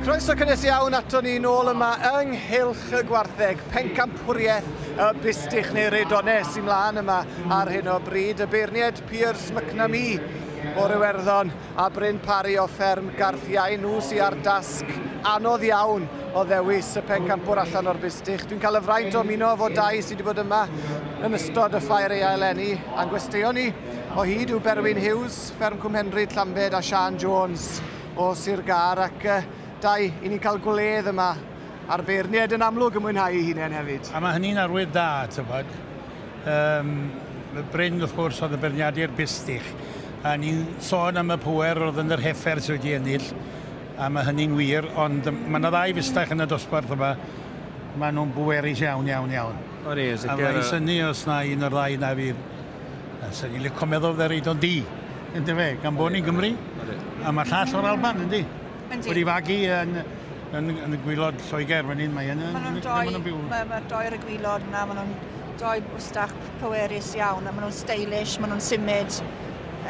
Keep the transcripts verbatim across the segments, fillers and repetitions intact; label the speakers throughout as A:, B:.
A: Croeso cynnes iawn ato ni nôl yma yng Nghylch y Gwartheg, pencampwriaeth y bustych neu redones sy'n mlaen yma ar hyn o bryd. Y beirniad Piers McNamee o'r Iwerddon a Bryn Parry o fferm Garthiau, nhw sy'n ar dasg anodd iawn o ddewis y pencampwr allan o'r bustych. Dwi'n cael y fraint o ymuno efo dau sydd wedi bod yma yn ystod y ffair aeaf eleni. A'n gwesteion ni o hyd yw Berwyn Hughes, fferm Cwmhenryd Llambed a Sian Jones o Sir Gâr ac uh, dau, i ni'n cael gwledd yma a'r beirniad yn amlwg yn mwynhau eu hunain hefyd.
B: A mae hynny'n arwydd da, tybod. Um, Bryn, wrth gwrs, oedd y beirniadu'r bustych. A ni'n sôn am y pwer oedd yn yr heffer sydd wedi ennill, a mae hynny'n wir, ond mae yna ddau fustach yn y dosbarth yma. Maen nhw'n bwerus iawn, iawn, iawn.
C: Odi,
B: A
C: sicr.
B: mae'n synnu os na un o'r ddau na fydd. A sy'n ni'n licio meddwl fydde'r Rheidon Du, yndyfe, gan bod ni'n Gymru. A mae llall o'r Alban, yndi?
D: Yndi.
B: Wedi fagu yn, yn, yn y gwaelod Lloegr fan hyn, mae yn,
D: Maen nhw'n
B: yn,
D: doi,
B: yn byw.
D: mae, mae doi ar y gwaelod yna, maen nhw'n doi bwstach pwerus iawn, a maen nhw'n stylish, maen nhw'n symud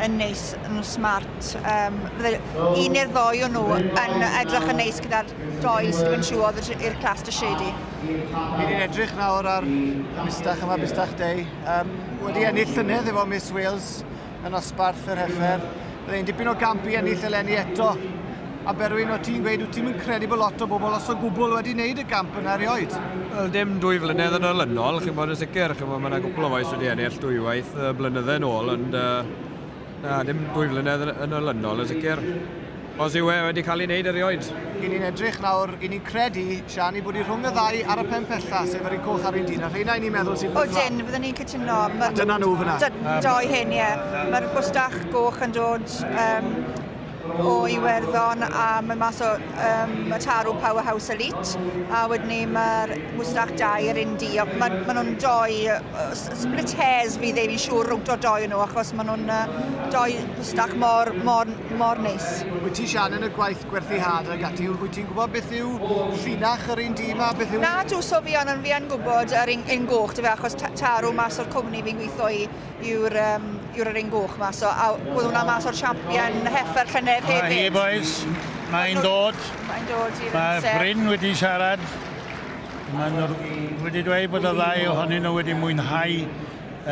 D: yn neis, yn nhw'n smart. Um, fydde un neu'r ddoi o nhw yn edrych yn neis gyda'r doi sydd wedi mynd trwodd i'r class de Shady.
A: I ni'n edrych nawr ar bustach yma, bustach dei. Um, wedi ennill llynedd efo Miss Wales yn osbarth yr heffer. Byddai'n dipyn o gamp i ennill eleni eto. A Berwyn, o ti'n gweud, wyt ti'n mynd credu bod lot o bobl os o gwbl wedi wneud y gamp yna erioed?
C: Wel, dim dwy flynedd yn olynol, chi'n bod yn sicr, chi'n bod, mae yna gwpl o fois wedi ennill dwywaith uh, blynydde nôl, ond uh, na, dim dwy flynedd yn, yn olynol yn sicr. Os yw e wedi cael ei wneud erioed.
A: I ni'n edrych nawr, i ni'n credu, Sian, i bod i rhwng y ddau ar y pen pella, sef yr un coch a'r un du. A rheina i ni'n meddwl sy'n
D: O dyn, byddwn ni'n cytuno. Ma-
A: Dyna nhw fyna.
D: D- Doi hyn, ie. Mae'r bwstach goch yn dod um, o Iwerddon a mae mas o um, y Tarw Powerhouse Elite a wedyn ni mae'r bwstach dau yr un du. Mae ma nhw'n doi, uh, split hairs fi ddeud fi'n siŵr rhwng o doi nhw achos maen nhw'n uh, doi bwstach mor, mor, mor neis.
A: Wyt ti, Sian, yn y gwaith gwerthu had ag ati, wyt ti'n gwybod beth yw llinach yr un du yma? Beth yw...
D: Na, dw, so fi yn, fi yn gwybod yr un, un goch, dy fe, achos Tarw mas o'r cwmni fi'n gweithio i yw'r um, yw'r yr un goch ma, so a oedd hwnna mas o'r champion heffer llynedd
B: Mae hi,
D: hefyd.
B: boys, mae'n dod.
D: Mae'n dod i'r
B: Mae
D: amser.
B: Bryn wedi siarad. Mae nhw wedi dweud bod y ddau ohonyn nhw wedi mwynhau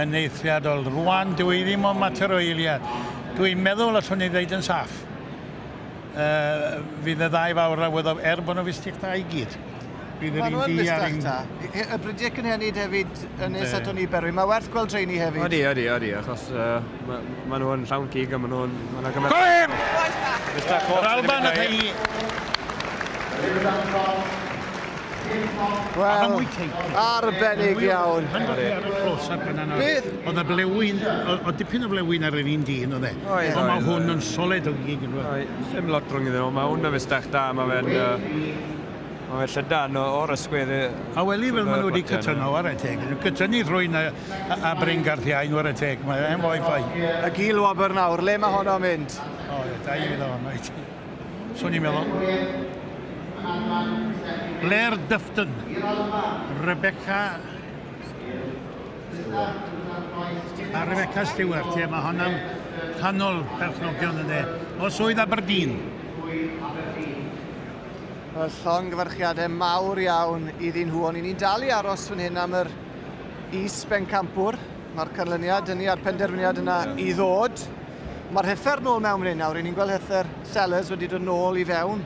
B: yn eithriadol. Rwan, dwi ddim o'n mater o eiliad. Dwi'n meddwl allwn ni ddeud yn saff. Uh, fydd y ddau fawr awydd, er bod nhw fustych da i gyd. Fydd yr
A: Maen
B: un
A: nhw yn
B: du a'r
A: fustach
B: un...
A: ta. Y brydiau cynhenid hefyd yn nes
B: Yndi.
A: ato ni, Berwyn. Mae werth gweld rheini hefyd.
C: Odi, odi, odi, achos uh, ma, ma nhw'n llawn cig a ma nhw'n... Ma nhw'n gymer...
B: Go in!
D: Boys bach.
C: Bustach coch
B: Yr
C: sydd wedi
B: Alban
C: mynd
B: ydw
C: â hi.
B: i.
A: Wel,
B: mwy teip.
A: arbennig iawn.
B: Pan dod ar y close-up yna nawr,
A: Beth?
B: Oedd y blewyn, oedd dipyn o flewyn ar yr un dyn, oedd e.
C: Oedd,
B: Ond mae
C: oedd,
B: hwn
C: oedd.
B: yn solid o gig yn dweud.
C: Oi, dim lot rhwng iddyn nhw. Mae hwn yn fustach da, mae fe'n... Uh, mae fe'n llydan o- o'r ysgwydd. i-
B: A weli fel maen nhw wedi
C: Potiau
B: cytuno ar y teg. Cytynnu rhywun a, a, a Bryn Garthiau ar y teg. Mae e'n foi ffain.
A: Y gil wobr nawr, le mae honno'n mynd?
B: O, ie, da i fydd o, mate. Swn i'n meddwl. Blair Dufton. Rebecca... A Rebecca Stewart, ie, mae honna'n rhannol perchnogion yn de. O swydd Aberdeen.
A: Y llongyfarchiadau mawr iawn iddyn nhw, ond i ni'n dal i aros fan hyn am yr is-bencampwr. Mae'r canlyniad hynny a'r penderfyniad yna i ddod. Mae'r heffer nôl mewn fan hyn nawr, i ni'n gweld heffer Sellers wedi dod nôl i fewn.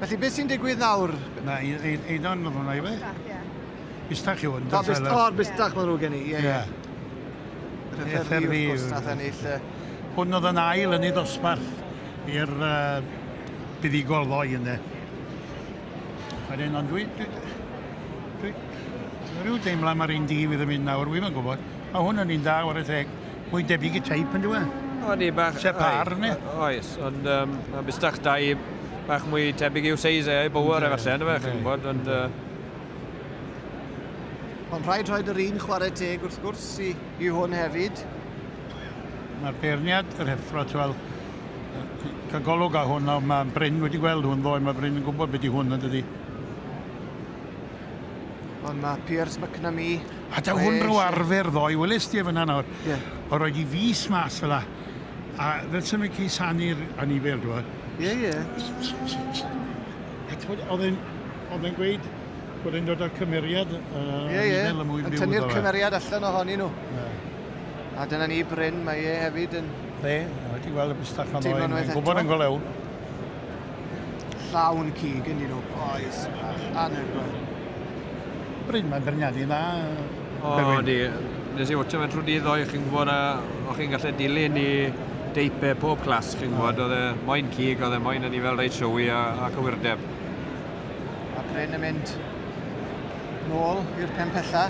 A: Felly beth sy'n digwydd nawr?
B: Na, Eidon oedd hwnna i fe.
D: Bustach, ie.
B: Bustach yw hwn.
A: O, bust- O'r bustach mae'n ddrwg gen i, ie, ie.
B: Ie.
A: Yr heffer
B: Heffer
A: ddu, wrth
B: ddu.
A: gwrs, nath ennill. yy,
B: Hwn oedd yn ail yn ei ddosbarth i'r uh, buddugol ddoe ynddo. Wedyn, ond dwi... dwi, dwi rhyw deimlad mae'r un di fydd yn mynd nawr, dwi'm yn gwybod. Mae hwn yn un da, whare teg. Mwy debyg i teip yn dwi?
C: Odi, bach...
B: Se par,
C: oi,
B: ne?
C: Oes, ond um, mae bustach dau bach mwy tebyg i'w seis e, i bower efallai, ynddo fe, chi'n gwybod, ond... Uh,
A: Ond rhaid rhoid yr un chwarae teg wrth gwrs i, i hwn hefyd.
B: Mae'r beirniad, yr heffro, ti'n wel, cael golwg ar hwn, ond mae Bryn wedi gweld hwn ddoe, mae Bryn yn gwybod beth i hwn yn dydi.
A: Ond mae Piers McNamee...
B: A daw hwn rhyw arfer ddoe, welys di e fyna nawr,
A: Ie.
B: o roed i fus mas fel 'a. A fel sy'n mynd ceisanu'r anifel, dwi'n
A: Ie, ie.
B: A t'mod, oedd e'n oedd e'n gweud bod e'n dod â'r cymeriad uh,
A: Ie, ie.
B: anifel y mwy
A: Yn
B: byw
A: tynnu'r
B: iddo fe.
A: cymeriad allan ohonyn nhw.
B: Ie.
A: A dyna ni Bryn, mae e hefyd yn
B: Le, wedi gweld y bustach na
A: Teimlo
B: ddoe,
A: unwaith
B: mae'n gwybod
A: eto.
B: yn go lew.
A: Llawn cig yn nhw. Oes, bach, anhygoel.
B: Bryn, mae'n beirniadu dda.
C: O,
B: Berwyn.
C: di. Nes i watcho fe trwy dydd ddoe, chi'n gwybod, a o'ch chi'n gallu dilyn i deipau pob clas, chi'n gwybod, oedd e moyn cig, oedd e moyn anifail reit showy a, a cywirdeb.
A: A Bryn yn mynd nôl i'r pen pella.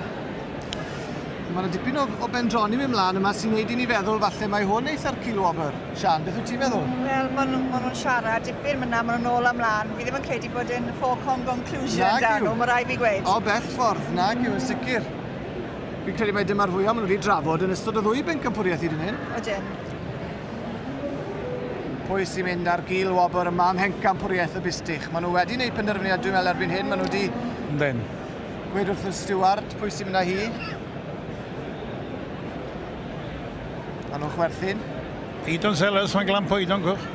A: Mae yna dipyn o, o bendroni mynd mlaen yma sy'n neud i ni feddwl falle mae hwn eitha'r cilwobr. Sian, beth wyt ti'n meddwl?
D: Wel, maen nhw- ma nhw'n siarad dipyn myna, maen nhw'n nôl ymlaen. Fi ddim yn credu bod yn foregone conclusion
A: Nag
D: da
A: yw.
D: nhw, mae rhaid fi gweud.
A: O, bell ffordd, nag yw, yn sicr. Fi'n credu mai dyma'r fwyaf maen nhw wedi drafod yn ystod y ddwy bencampwriaeth hyd yn hyn.
D: Ydyn.
A: Pwy sy'n mynd ar gil wobr yma ym mhencampwriaeth y bustych? Maen nhw wedi gwneud penderfyniad, dwi'n meddwl, erbyn hyn. Maen nhw wedi
B: Yndyn.
A: gweud wrth y steward pwy sy'n mynd â hi. Maen nhw'n chwerthin.
B: Eidon Sellers, mae'n glamp o Eidon Cwch.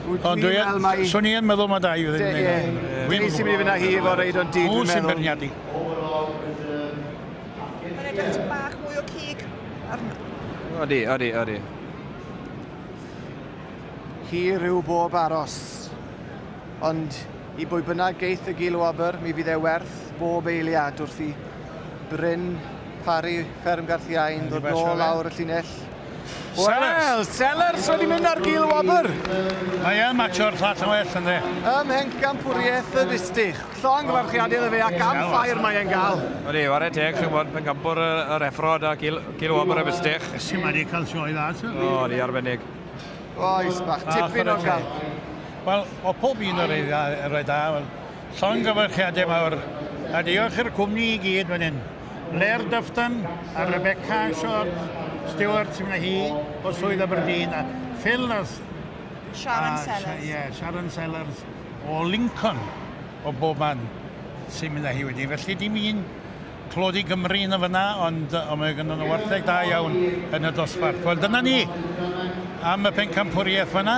A: Dwi'n
B: Ond dwi,
A: meddwl mai...
B: swn i yn meddwl mae dau fydd
A: De-
B: yn
A: ie.
B: gwneud.
A: Dwi sy'n mynd i fynd â hi efo'r Eidon D,
B: Nhw
A: dwi'n
B: sy'n
A: meddwl.
B: beirniadu.
D: Mae'n edrych tipyn bach mwy o cig arno.
C: Odi, odi, odi.
A: Hir yw bob aros. Ond i bwy bynnag geith y gil wobr, mi fydd e werth bob eiliad wrth i Bryn Parry Fferm Garthiain ddod
B: basio
A: nôl
B: fe.
A: lawr y llinell.
B: Sellers.
A: Wel, Sellers wedi mynd ar gil wobr.
B: Mae e'n matcho'r llall yn well, ynddi?
A: Ym mhencampwriaeth y bustych. Llongyfarchiadau iddo fe ac am ffair mae e'n gael.
C: Odi, ware teg, chi'n gwybod, pencampwr y- yr effrod a gil, gil wobr y bustych.
B: Sy'n mae wedi cael sioe dda, ti'n?
C: O, di, arbennig.
A: Oes bach, tipyn o'r gael.
B: Wel, o pob un o'r rei dda, rei da, wel, llongyfarchiadau mawr. A diolch i'r cwmni i gyd fan hyn. Blair Dufton a Rebecca Short, Stewart sy'n mynd â hi o Swydd Aberdeen, a Phil a,
D: Sharon
B: a-
D: Sellers.
B: Ie, Sharon Sellers o Lincoln o bob man sy'n mynd â hi wedi. Felly dim un clod i Gymru yn y fyna, ond, ond mae gynnon nhw wartheg da iawn yn y dosbarth. Wel, dyna ni am y pencampwriaeth fyna.